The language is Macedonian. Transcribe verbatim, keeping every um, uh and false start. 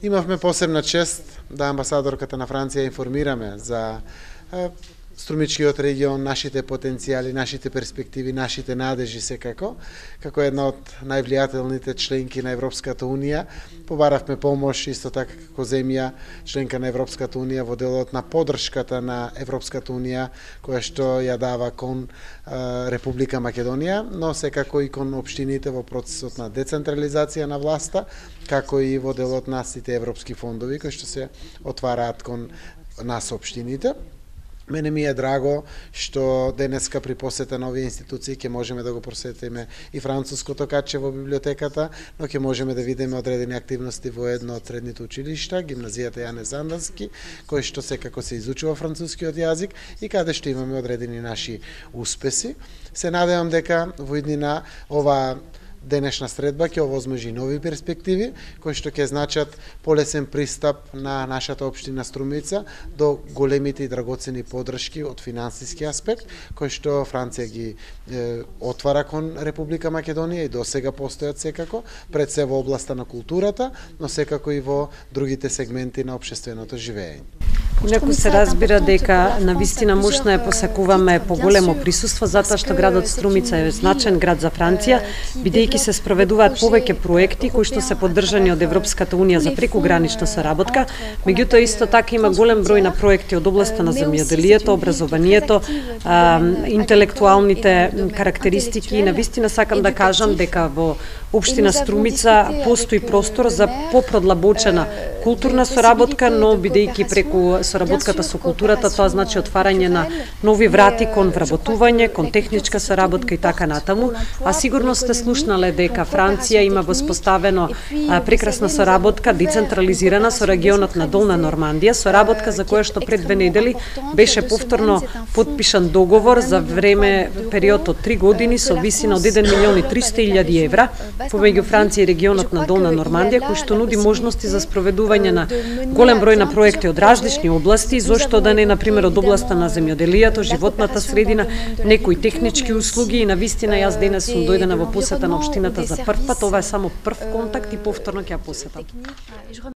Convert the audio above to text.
Имавме посебна чест да амбасадорката на Франција информираме за Струмичкиот регион, нашите потенцијали, нашите перспективи, нашите надежи секако. Како една од највлијателните членки на Европската Унија, побаравме помош исто така како земја членка на Европската Унија во делот на поддршката на Европската Унија која што ја дава кон Република Македонија, но секако и кон општините во процесот на децентрализација на власта, како и во делот на сите европски фондови кои што се отвараат кон нас општините. Мене ми е драго што денеска при посета на овие институции ќе можеме да го посетиме и француското каче во библиотеката, но ќе можеме да видиме одредени активности во едно од средните училишта, гимназијата Јане Сандански, кој што секако се изучува францускиот јазик и каде што имаме одредени наши успеси. Се надевам дека во иднина ова денешна средба ќе овозможи нови перспективи кои што ќе значат полесен пристап на нашата општина Струмица до големите и драгоцени поддршки од финансиски аспект кои што Франција ги е, отвара кон Република Македонија и досега постојат секако пред се во областа на културата, но секако и во другите сегменти на општественото живење. Инаку се разбира дека навистина можна е посакуваме поголемо присуство затоа што градот Струмица е значен град за Франција, бидејќи се спроведуваат повеќе проекти кои што се поддржани од Европската Унија за прекугранична соработка, меѓутоа исто така има голем број на проекти од областа на земјоделието, образованието, а, интелектуалните карактеристики и навистина сакам да кажам дека во општина Струмица постои простор за попродлабочена културна соработка, но бидејќи преку соработката со културата тоа значи отварање на нови врати кон вработување, кон техничка соработка и така натаму, а сигурно сте слушнале дека Франција има воспоставено а, прекрасна соработка децентрализирана со регионот на Долна Нормандија, соработка за која што пред две недели беше повторно потпишан договор за време период од три години со висина од еден милион и триста илјади евра помеѓу Франција и регионот на Долна Нормандија, кој што нуди можности за спроведување на голем број на проекти од различни области, зошто да не, например, од областа на земјоделието, животната средина, некои технички услуги и навистина јас денес сум дојдена во посета на општината за прв пат, ова е само прв контакт и повторно ќе ја посетам.